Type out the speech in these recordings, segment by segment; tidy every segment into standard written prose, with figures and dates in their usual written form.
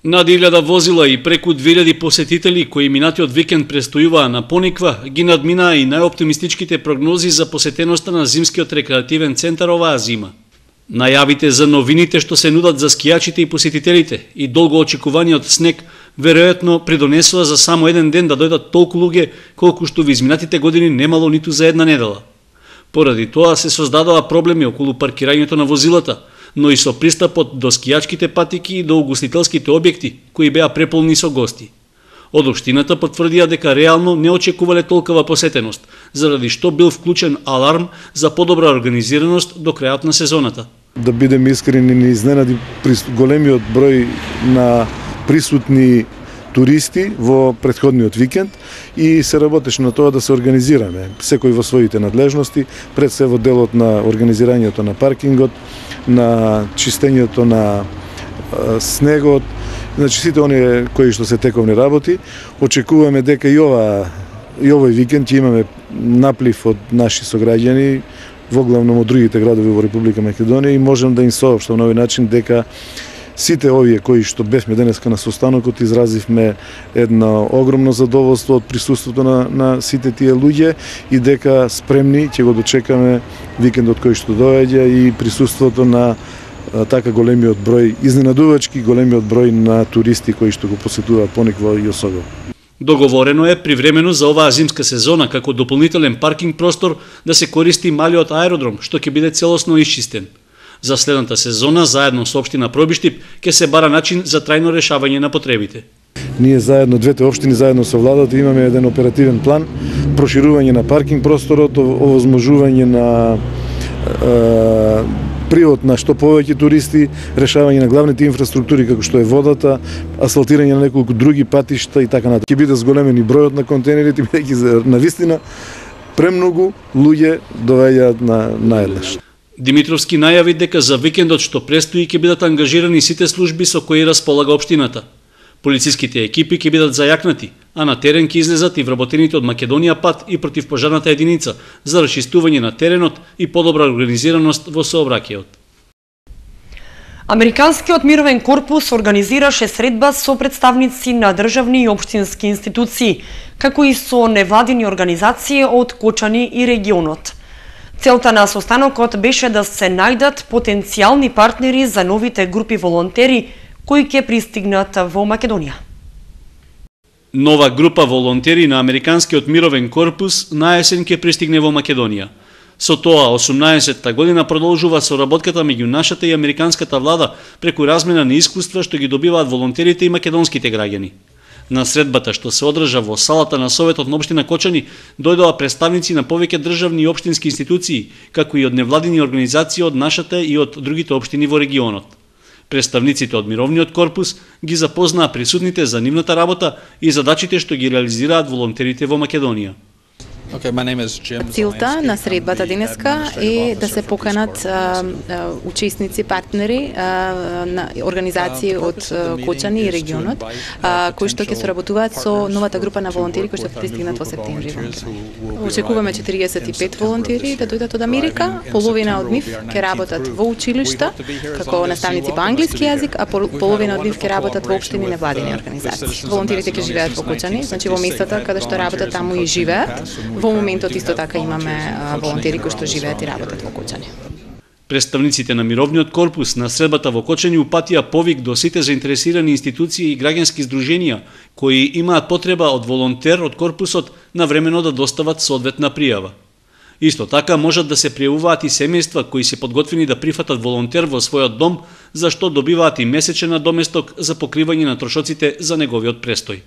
Над 1000 возила и преку 2000 посетители кои минатиот викенд престојуваа на Пониква ги надминаа и најоптимистичките прогнози за посетеноста на зимскиот рекреативен центар оваа зима. Најавите за новините што се нудат за скијачите и посетителите и долго очекуваниот снег веројатно придонесува за само еден ден да дојдат толку луѓе колку што во изминатите години немало ниту за една недела. Поради тоа се создадоа проблеми околу паркирањето на возилата, но и со пристапот до скијачките патики и до угостителските објекти, кои беа преполни со гости. Од општината потврдија дека реално не очекувале толкова посетеност, заради што бил вклучен аларм за подобра организираност до крајот на сезоната. Да бидем искрени, не изненади големиот број на присутни туристи во претходниот викенд и се работеше на тоа да се организираме, секој во своите надлежности, пред се во делот на организирањето на паркингот, на чистењето на снегот, значи сите оние кои што се тековни работи. Очекуваме дека и овој викенд ќе имаме наплив од наши сограѓани, воглавно од другите градови во Република Македонија, и можем да им соопштам на овој начин дека сите овие кои што бевме денеска на состанокот изразивме едно огромно задоволство од присуството на сите тие луѓе и дека спремни ќе го дочекаме викендот кој што доаѓа и присуството на така големиот број, изненадувачки големиот број на туристи кои што го посетуваат Пониква и Осогово. Договорено е привремено за оваа зимска сезона како дополнителен паркинг простор да се користи малиот аеродром што ќе биде целосно исчистен. За следната сезона, заедно со општина Пробиштип, ќе се бара начин за трајно решавање на потребите. Ние заедно, двете општини заедно со владата имаме еден оперативен план, проширување на паркинг просторот, овозможување на привод на што повеќе туристи, решавање на главните инфраструктури како што е водата, асфалтирање на неколку други патишта и така натаму. Ќе биде зголемени бројот на контейнерите, бидејќи навистина премногу луѓе доаѓаат на еднаш. Димитровски најави дека за викендот што престои ќе бидат ангажирани сите служби со кои располага општината. Полициските екипи ќе бидат зајакнати, а на терен ќе излезат и вработените од Македонија ПАТ и противпожарната единица за расчистување на теренот и подобра организираност во сообраќајот. Американскиот мировен корпус организираше средба со представници на државни и општински институции, како и со невладини организации од Кочани и регионот. Целта на состанокот беше да се најдат потенцијални партнери за новите групи волонтери кои ќе пристигнат во Македонија. Нова група волонтери на Американскиот мировен корпус на есен ќе пристигне во Македонија. Со тоа, 18-та година продолжува соработката меѓу нашата и американската влада преку размена на искуства што ги добиваат волонтерите и македонските граѓани. На средбата што се одржа во салата на Советот на општина Кочани дојдоа представници на повеќе државни и општински институции, како и од невладини организации од нашата и од другите општини во регионот. Представниците од Мировниот корпус ги запознаа присутните за нивната работа и задачите што ги реализираат волонтерите во Македонија. Целта на средбата денеска е да се поканат учесници, партнери на организации од Кочани и регионот, кои што ќе соработуваат со новата група на волонтери кои што ќе пристигнат во септември во Македонија. Очекуваме 45 волонтери да дојдат од Америка, половина од нив ќе работат во училишта како наставници по англиски јазик, а половина од нив ќе работат во општини невладини организации. Волонтерите ќе живеат во Кочани, значи во местата каде што работат таму и живеат. Во моментот исто така имаме волонтери кои што живеат и работат во Кочани. Представниците на Мировниот корпус на средбата во Кочани упатија повик до сите заинтересирани институции и граѓански здруженија кои имаат потреба од волонтер од корпусот навремено да достават соодветна пријава. Исто така можат да се пријавуваат и семејства кои се подготвени да прифатат волонтер во својот дом, за што добиваат и месечен надоместок за покривање на трошоците за неговиот престој.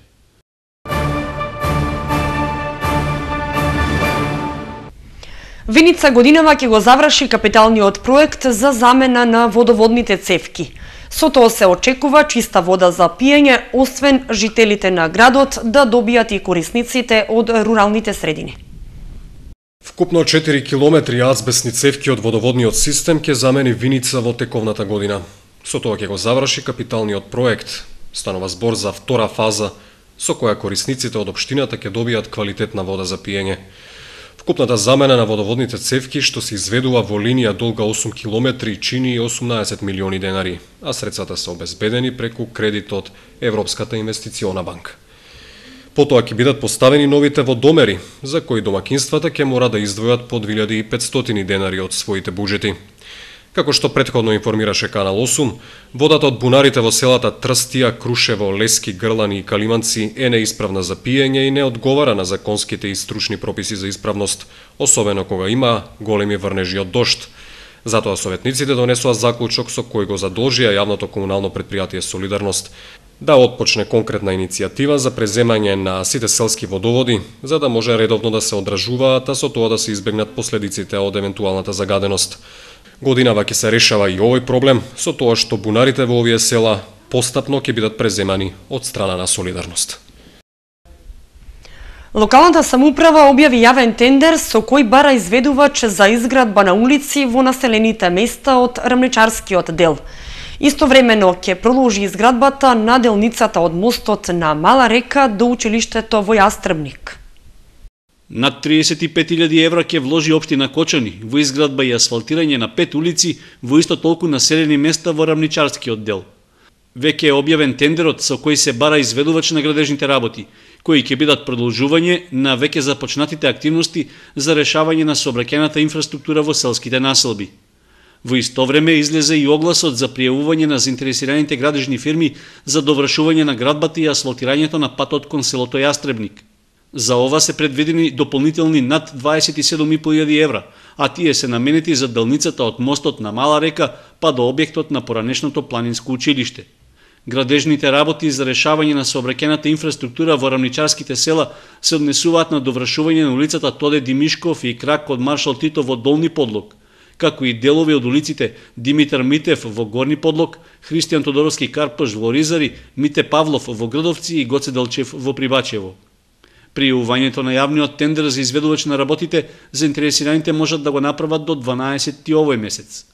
Виница годинава ќе го заврши капиталниот проект за замена на водоводните цевки. Со тоа се очекува чиста вода за пиење, освен жителите на градот да добијат и корисниците од руралните средини. Вкупно 4 километри азбестни цевки од водоводниот систем ќе замени Виница во тековната година. Со тоа ќе го заврши капиталниот проект. Станува збор за втора фаза, со која корисниците од општината ќе добијат квалитетна вода за пиење. Вкупната замена на водоводните цевки што се изведува во линија долга 8 километри чини 18 милиони денари, а средствата се обезбедени преку кредит од Европската инвестициона банка. Потоа ќе бидат поставени новите водомери, за кои домакинствата ќе мора да издвојат по 2500 денари од своите буџети. Како што претходно информираше Канал 8, водата од бунарите во селата Трстија, Крушево, Лески, Грлани и Калиманци е неисправна за пиење и не одговара на законските и стручни прописи за исправност, особено кога има големи врнежи од дожд. Затоа советниците донесоа заклучок со кој го задолжија јавното комунално претпријатие Солидарност да отпочне конкретна иницијатива за преземање на сите селски водоводи, за да може редовно да се одржуваат, а со тоа да се избегнат последиците од евентуалната загаденост. Годинава ќе се решава и овој проблем, со тоа што бунарите во овие села постапно ќе бидат преземани од страна на Солидарност. Локалната самоуправа објави јавен тендер со кој бара изведувач за изградба на улици во населените места од рамничарскиот дел. Истовремено ќе продолжи изградбата на делницата од мостот на Мала река до училиштето во Јастребник. Над 35.000 евра ќе вложи општина Кочани во изградба и асфалтирање на 5 улици во исто толку населени места во рамничарскиот дел. Веќе е објавен тендерот со кој се бара изведувач на градежните работи, кои ќе бидат продолжување на веќе започнатите активности за решавање на сообраќајната инфраструктура во селските населби. Во исто време излезе и огласот за пријавување на заинтересираните градежни фирми за довршување на градбата и асфалтирањето на патот кон селото Јастребник. За ова се предвидени дополнителни над 27.500 евра, а тие се наменети за делницата од мостот на Мала река па до објектот на поранешното планинско училиште. Градежните работи за решавање на сообраќајната инфраструктура во рамничарските села се однесуваат на довршување на улицата Тоде Димишков и крак од Маршал Тито во Долни Подлог, како и делови од улиците Димитар Митев во Горни Подлог, Христијан Тодоровски Карпаш во Ризари, Мите Павлов во Грдовци и Гоце Делчев во Прибачево. При јавувањето на јавниот тендер за изведувач на работите, заинтересираните можат да го направат до 12 овој месец.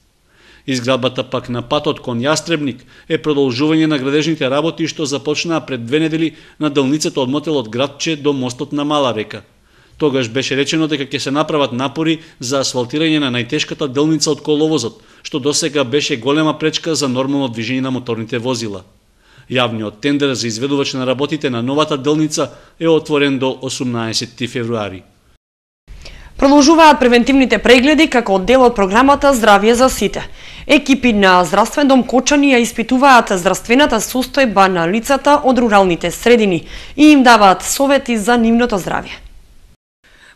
Изградбата пак на патот кон Јастребник е продолжување на градежните работи што започнаа пред 2 недели на делницата од мотелот Градче до мостот на Мала река. Тогаш беше речено дека ќе се направат напори за асфалтирање на најтешката делница од коловозот, што досега беше голема пречка за нормално движење на моторните возила. Јавниот тендер за изведувач на работите на новата делница е отворен до 18 февруари. Продолжуваат превентивните прегледи како дел од програмата Здравје за сите. Екипи на Здравствен дом Кочани ја испитуваат здравствената состојба на лицата од руралните средини и им даваат совети за нивното здравје.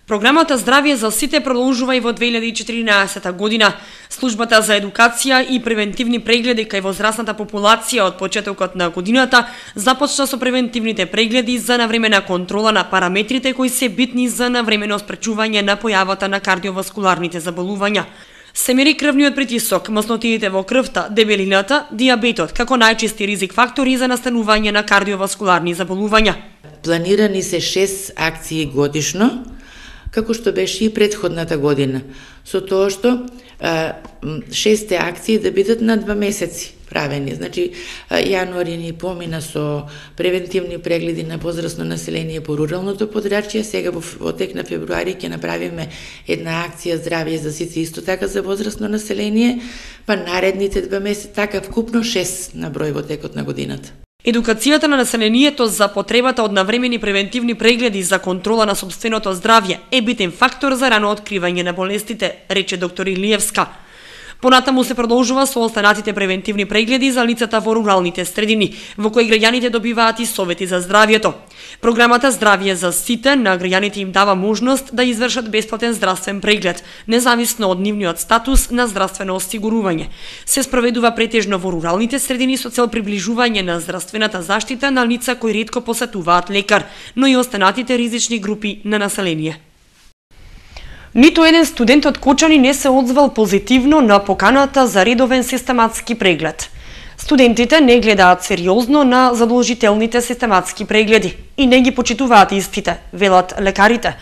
Програмата Здравје за сите продолжува и во 2014 година. Службата за едукација и превентивни прегледи кај возрастната популација од почетокот на годината започна со превентивните прегледи за навремена контрола на параметрите кои се битни за навремено спречување на појавата на кардиоваскуларните заболувања. Се мери крвниот притисок, маснотиите во крвта, дебелината, дијабетот како најчести ризик фактори за настанување на кардиоваскуларни заболувања. Планирани се 6 акции годишно, како што беше и претходната година, со тоа што 6 акции да бидат на 2 месеци правени. Значи, јануари ни помина со превентивни прегледи на возрастно население по руралното подрачје, сега во тек на февруари ќе направиме една акција Здравје за сите исто така за возрастно население, па наредните 2 месеци, така вкупно 6 на број во текот на годината. Едукацијата на населението за потребата од навремени превентивни прегледи за контрола на сопственото здравје е битен фактор за рано откривање на болестите, рече доктор Илиевска. Понатаму се продолжува со останатите превентивни прегледи за лицата во руралните средини, во кои граѓаните добиваат и совети за здравјето. Програмата Здравје за сите на граѓаните им дава можност да извршат бесплатен здравствен преглед, независно од нивниот статус на здравствено осигурување. Се спроведува претежно во руралните средини со цел приближување на здравствената заштита на лица кои ретко посетуваат лекар, но и останатите ризични групи на население. Ниту еден студент од Кочани не се одзвал позитивно на поканата за редовен систематски преглед. Студентите не гледаат сериозно на задолжителните систематски прегледи и не ги почитуваат истите, велат лекарите.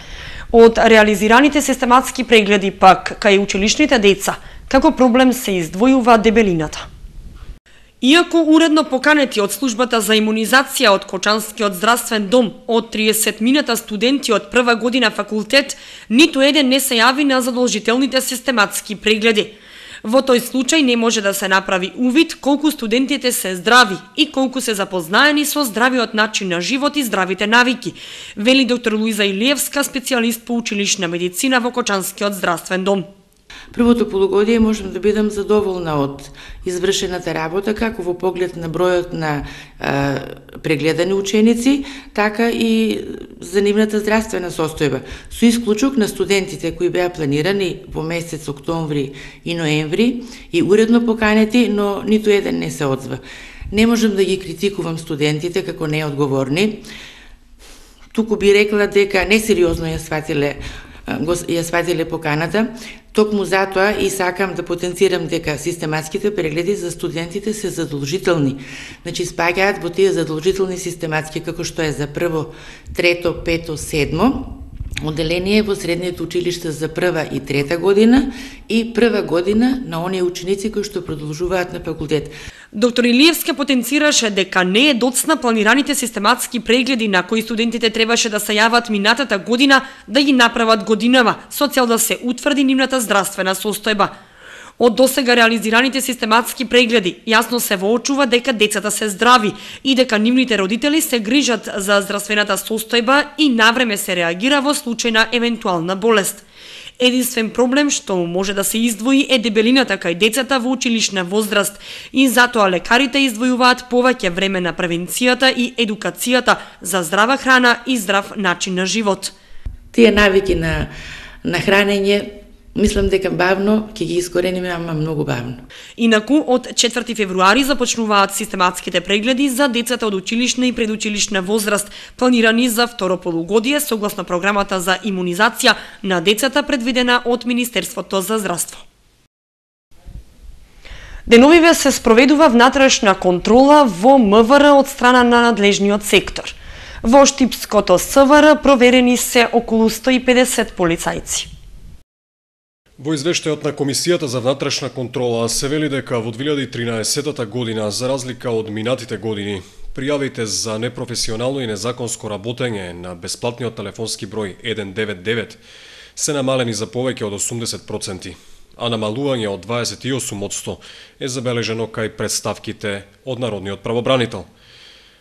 Од реализираните систематски прегледи пак кај училишните деца, како проблем се издвојува дебелината. Иако уредно поканети од службата за имунизација од Кочанскиот здравствен дом од 30 мината студенти од прва година факултет, ниту еден не се јави на задолжителните систематски прегледи. Во тој случај не може да се направи увид колку студентите се здрави и колку се запознаени со здравиот начин на живот и здравите навики, вели доктор Луиза Илиевска, специјалист по училишна медицина во Кочанскиот здравствен дом. Првото полугодие можам да бидам задоволна од извршената работа, како во поглед на бројот на прегледани ученици, така и за нивната здравствена состојба, со исклучок на студентите кои беа планирани во месец октомври и ноември и уредно поканети, но ниту еден не се одзва. Не можам да ги критикувам студентите како неодговорни, туку би рекла дека несериозно ја сватиле поканата. Токму затоа и сакам да потенцирам дека систематските прегледи за студентите се задолжителни. Значи спаѓаат во тие задолжителни систематски како што е за прво, трето, пето, седмо, одделение во средниот училиште за прва и трета година и прва година на оние ученици кои што продолжуваат на факултет. Доктор Илиевска потенцираше дека не е доцна планираните систематски прегледи на кои студентите требаше да се јават минатата година да ги направат годинава, со цел да се утврди нивната здравствена состојба. Од досега реализираните систематски прегледи јасно се воочува дека децата се здрави и дека нивните родители се грижат за здравствената состојба и навреме се реагира во случај на евентуална болест. Единствен проблем што може да се издвои е дебелината кај децата во училишна возраст и затоа лекарите издвојуваат повеќе време на превенцијата и едукацијата за здрава храна и здрав начин на живот. Тие навики на хранење, мислам дека бавно ќе ги искорениме, ама многу бавно. Инаку, од 4 февруари започнуваат систематските прегледи за децата од училишна и предучилишна возраст, планирани за второ полугодие согласно програмата за имунизација на децата предвидена од Министерството за здравство. Деновиве се спроведува внатрешна контрола во МВР од страна на надлежниот сектор. Во Штипското СВР проверени се околу 150 полицајци. Во извештајот на Комисијата за внатрешна контрола се вели дека во 2013 година, за разлика од минатите години, пријавите за непрофесионално и незаконско работење на бесплатниот телефонски број 199 се намалени за повеќе од 80%, а намалување од 28% е забележено кај представките од Народниот правобранител.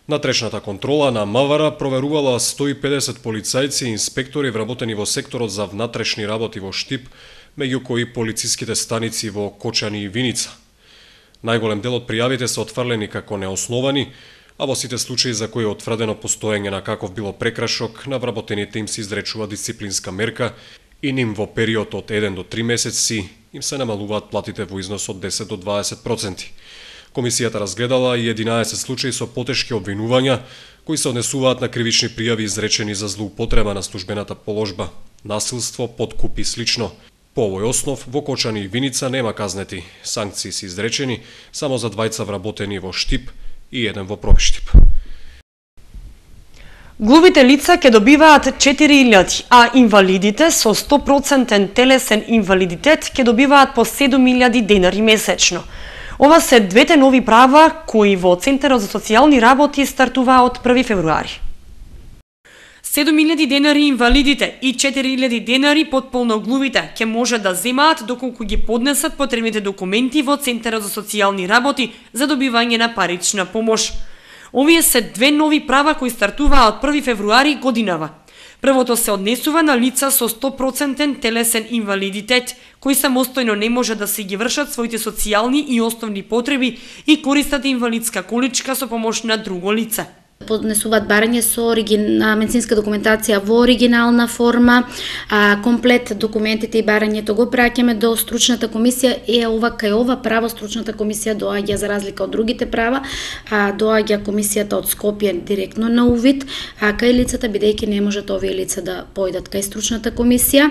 Натрешната контрола на МВР проверувала 150 полицајци и инспектори вработени во секторот за внатрешни работи во Штип, меѓу кои полициските станици во Кочани и Виница. Најголем дел од пријавите се отфрлени како неосновани, а во сите случаи за кои е утврдено постоење на каков било прекршок, на вработените им се изречува дисциплинска мерка и ним во период од 1 до 3 месеци им се намалуваат платите во износ од 10 до 20%. Комисијата разгледала и 11 случаи со потешки обвинувања, кои се однесуваат на кривични пријави изречени за злоупотреба на службената положба, насилство, подкуп и слично. По овој основ, во Кочани и Виница нема казнети. Санкции се изречени само за 2 вработени во Штип и 1 во Пробиштип. Глувите лица ќе добиваат 4.000, а инвалидите со 100% телесен инвалидитет ќе добиваат по 7.000 денари месечно. Ова се двете нови права кои во Центарот за социјални работи стартуваа од 1 февруари. 7.000 денари инвалидите и 4.000 денари потполноглувите ќе може да земаат доколку ги поднесат потребните документи во Центарот за социјални работи за добивање на парична помош. Овие се две нови права кои стартуваа од 1 февруари годинава. Првото се однесува на лица со 100% телесен инвалидитет, кои самостојно не може да си ги вршат своите социјални и основни потреби и користат инвалидска количка со помош на друго лице. Поднесуваат барање со медицинска документација во оригинална форма, комплет документите и барањето го праќаме до стручната комисија и кај ова право стручната комисија доаѓа за разлика од другите права, доаѓа комисијата од Скопје директно на увид, кај лицата бидејќи не можат овие лица да појдат кај стручната комисија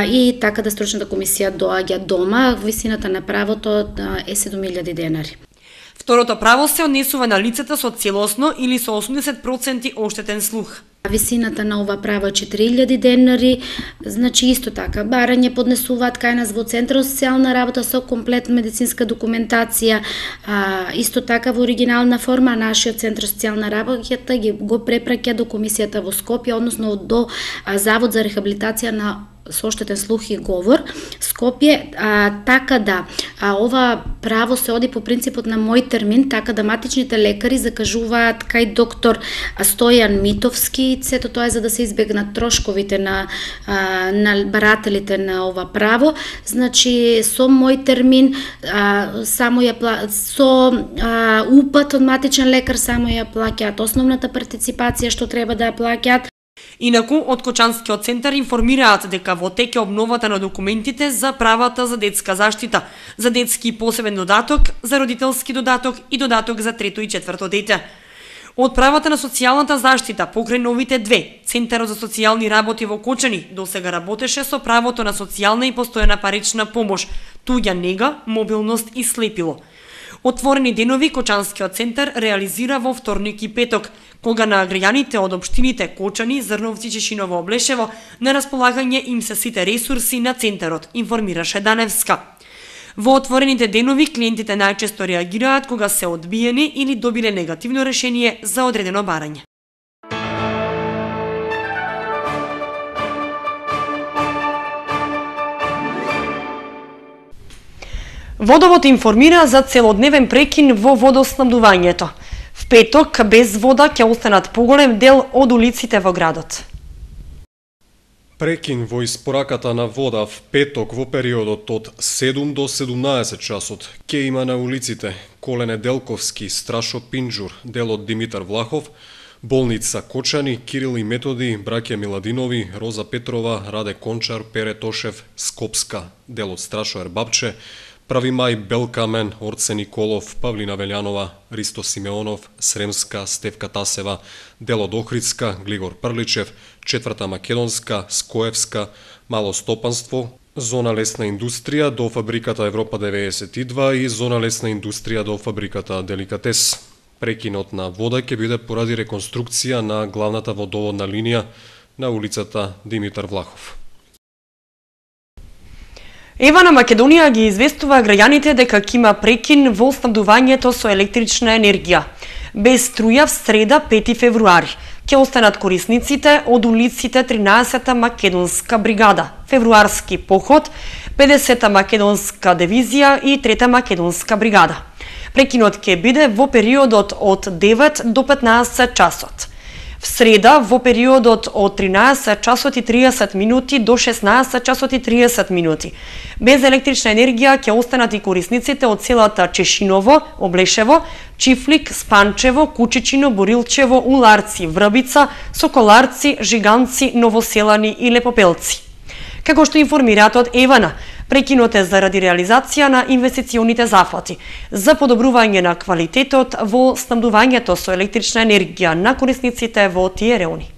и така да стручната комисија доаѓа дома, висината на правото е 7.000 денари. Второто право се однесува на лицата со целосно или со 80% оштетен слух. Висината на ова право е 4000 денари, значи исто така барање поднесуваат кај нас во Центарот за социјална работа со комплетна медицинска документација, исто така во оригинална форма. Нашиот Центар за социјална работа го препраќа до комисијата во Скопје, односно до Завод за рехабилитација на со оштетен слух и говор Скопје, така да ова право се оди по принципот на мој термин, така да матичните лекари закажуваат кај доктор Стојан Митовски, сето тоа е за да се избегнат трошковите на барателите на ова право. Значи со мој термин само со упат од матичен лекар само ја плаќаат основната партиципација што треба да ја плаќаат. Инаку, од Кочанскиот центар информираат дека во тек е обновата на документите за правата за детска заштита, за детски посебен додаток, за родителски додаток и додаток за трето и четврто дете. Од правата на социјалната заштита покрај новите две, Центарот за социјални работи во Кочани досега работеше со правото на социјална и постојана парична помош, туѓа нега, мобилност и слепило. Отворени денови Кочанскиот центар реализира во вторник и петок, кога на граѓаните од општините Кочани, Зрновци, Чешиново, Облешево на располагање им се сите ресурси на центарот, информираше Даневска. Во отворените денови клиентите најчесто реагираат кога се одбиени или добиле негативно решение за одредено барање. Водовод информира за целодневен прекин во водоснабдувањето. В петок без вода ќе останат поголем дел од улиците во градот. Прекин во испораката на вода в петок во периодот од 7 до 17 часот ќе има на улиците Колене Делковски, Страшо Пинџур, делот Димитар Влахов, Болница Кочани, Кирил и Методи, браќа Миладинови, Роза Петрова, Раде Кончар, Пере Тошев, Скопска, делот Страшо Ербапче, Прави мај, Белкамен, Орце Николов, Павлина Велјанова, Ристо Симеонов, Сремска, Стевка Тасева, делот Охридска, Глигор Прличев, Четврта Македонска, Скоевска, Мало Стопанство, Зона лесна индустрија до фабриката Европа 92 и Зона лесна индустрија до фабриката Деликатес. Прекинот на вода ќе биде поради реконструкција на главната водоводна линија на улицата Димитар Влахов. Ева на Македонија ги известува граѓаните дека ќе има прекин во снабдувањето со електрична енергија. Без струја в среда 5 февруари ќе останат корисниците од улиците 13-та македонска бригада, февруарски поход, 50-та македонска дивизија и 3-та македонска бригада. Прекинот ќе биде во периодот од 9 до 15 часот. В среда во периодот од 13 часот и 30 минути до 16 часот и 30 минути. Без електрична енергија ќе останат и корисниците од селата Чешиново, Облешево, Чифлик, Спанчево, Кучичино, Борилчево, Уларци, Врбица, Соколарци, Жиганци, Новоселани и Лепопелци. Како што информираат од Евана, прекинот е заради реализација на инвестиционите зафати за подобрување на квалитетот во снабдувањето со електрична енергија на корисниците во тие реони.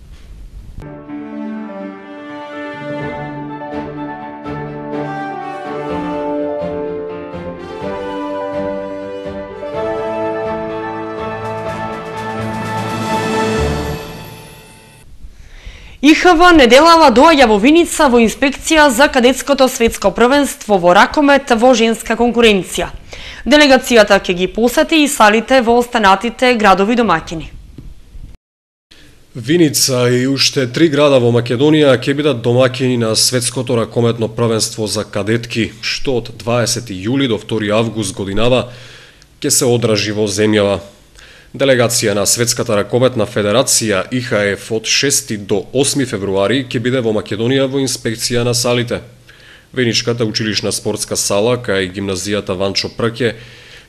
ИХВ неделава доаѓа во Виница во инспекција за кадетското светско првенство во ракомет во женска конкуренција. Делегацијата ќе ги посети и салите во останатите градови домаќини. Виница и уште 3 града во Македонија ќе бидат домаќини на светското ракометно првенство за кадетки, што од 20 јули до 2 август годинава ќе се одражи во земјава. Делегација на Светската ракометна федерација ИХФ од 6 до 8 февруари ќе биде во Македонија во инспекција на салите. Веничката училишна спортска сала кај гимназијата Ванчо Прке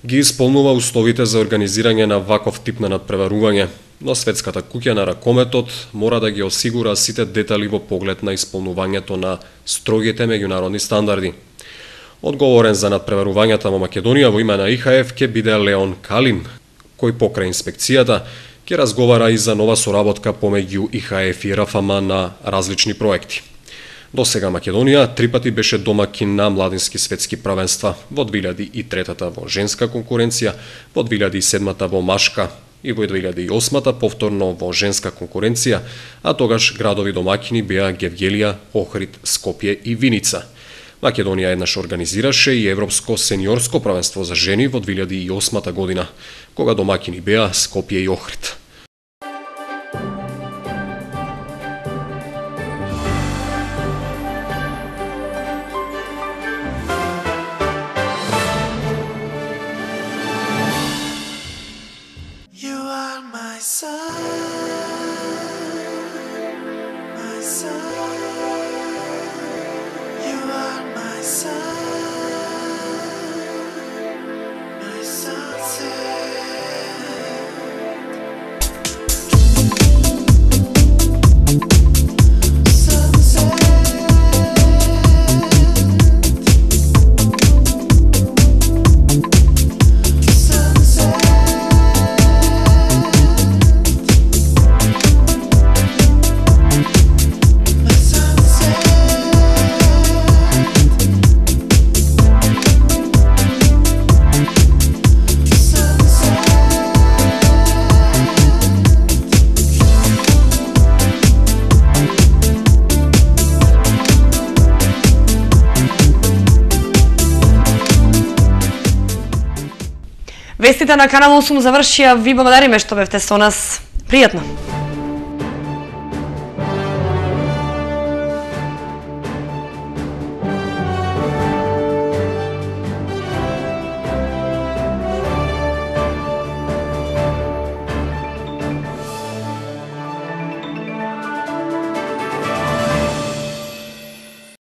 ги исполнува условите за организирање на ваков тип на надпреварување, но Светската куќа на ракометот мора да ги осигура сите детали во поглед на исполнувањето на строгите меѓународни стандарди. Одговорен за надпреварувањата во Македонија во име на ИХФ ќе биде Леон Калин, кој покрај инспекцијата ќе разговара и за нова соработка помеѓу ИХФ и РФМ на различни проекти. До сега Македонија 3 пати беше домакин на младински светски првенства, во 2003 во женска конкуренција, во 2007 во машка, и во 2008-та повторно во женска конкуренција, а тогаш градови домаќини беа Гевгелија, Охрид, Скопје и Виница. Македонија еднаш организираше и Европско сениорско правенство за жени во 2008 година, кога домаќини беа Скопје и Охрид. Вестите на Канал 8 завршија. Ви благодариме што бевте со нас. Пријатно!